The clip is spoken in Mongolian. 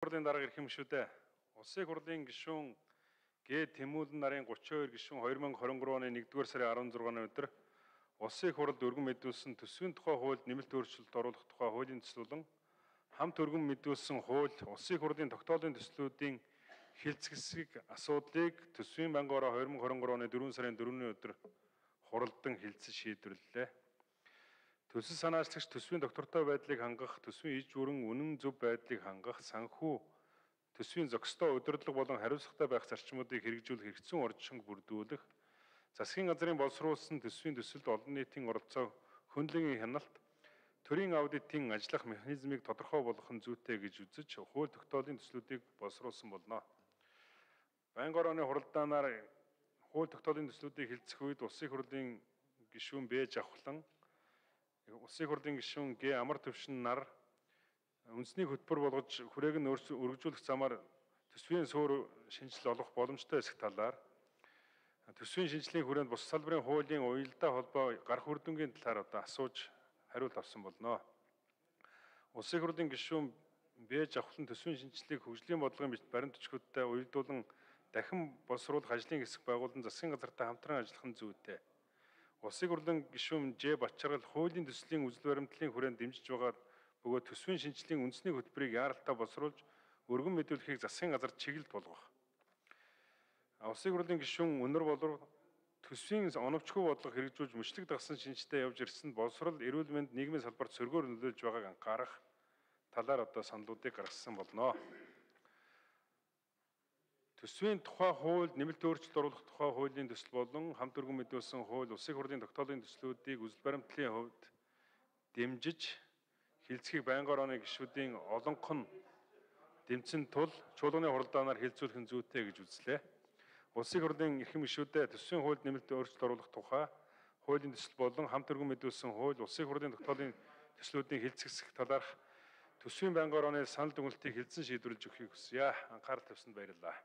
Хурлын дарга ирэх юм шүү дээ. Улсын хурлын гишүүн Г. Тэмүүлэн нарын 32 гишүүн 2023 оны 1-р сарын 16-ны өдөр Улсын хурлд өргөн мэдүүлсэн төсвийн тухай хуульд нэмэлт өөрчлөлт оруулах тухай хуулийн төслөлөн хамт өргөн мэдүүлсэн хууль Улсын хурлын тогтоолын төслүүдийн хилцэсгэх асуудлыг төсвийн бангаараа 2023 оны 4 сарын 4-ний өдөр хуралдан хилцэж шийдвэрлэлээ. Төсөл санаачлагч төсвийн доктортой байдлыг хангах, төсвийн иж бүрэн үнэн зөв байдлыг хангах, санхүү төсвийн зохистой удирдлага болон хариуцлагатай байх зарчмуудыг хэрэгжүүлэх хэрэгцсэн орчинг бүрдүүлэх, засгийн газрын боловсруулсан төсвийн төсөлд олон нийтийн оролцоо хөндлөгийн хяналт, төрийн аудитын ажиллах механизмыг тодорхой болгох нь зүйтэй гэж үзэж, хууль тогтоолын төслүүдийг боловсруулсан болно. Байнгын орооны хуралдаанаар хууль тогтоолын төслүүдийг хилцэх үед улсын хурлын гишүүн Б. Жавхлан, Улсын хурлын гишүүн Г. Амар төвшин нар үндэсний хөтөлбөр болгож хүрээг нь өргөжүүлэх замаар төсвийн суур шинжил олох боломжтой эсэх талаар, төсвийн шинжилгээний хүрээнд бус салбарын хуулийн уялдаа холбоо гарах үр дүнгийн талаар асууж хариулт авсан болно. Улсын хурлын гишүүн Б. Жавхлан төсвийн шинжилгээг хөгжлийн бодлогын баримт бичгүүдтэй уялдуулан дахин боловсруулах ажлын хэсэг байгуулан засгийн газартай хамтран ажиллах нь зүйтэй. Улсын хурлын гишүүн Ж. Батчаргал хуулийн төслийн үзэл баримтлалын хүрээнд дэмжиж байгаа бөгөөд төсвийн шинжилгээний үндэсний хөтөлбөрийг яаралтай боловсруулж өргөн мэдүүлэхийг засгийн газар чиглэл болгох. Улсын хурлын гишүүн Өнөр болов төсвийн оновчгүй бодлого хэрэгжүүлж мөчлөг дагсан шинжтэй явж ирсэн боловсрол, эрүүл мэнд, нийгмийн салбарт сөргөөр нөлөөлж байгааг анхаарах талаар саналуудыг гаргасан болно. Төсвийн тухай хуульд нэмэлт өөрчлөлт оруулах тухай хуулийн төсөл болон хамт өргөн мэдүүлсэн хууль улсын хурлын тогтоолын төслүүдийг үзэл баримтлалын хувьд дэмжиж хилцэхийг байнгын орооны гишүүдийн олонх нь дэмцэн тул чуулганы хуралдаанаар хилцүүлэх нь зүйтэй гэж үзлээ. Улсын хурлын эрхэм гишүүдэд төсвийн хуульд нэмэлт өөрчлөлт оруулах тухай хуулийн төсөл болон хамт өргөн мэдүүлсэн хууль улсын хурлын тогтоолын төслүүдийн хилцэсгэх талаарх төсвийн байнгын орооны санал дүгнэлтийг хилцэн шийдвэрлэж өгөхийг хүсье. Анхаарал тавьсанд баярлалаа.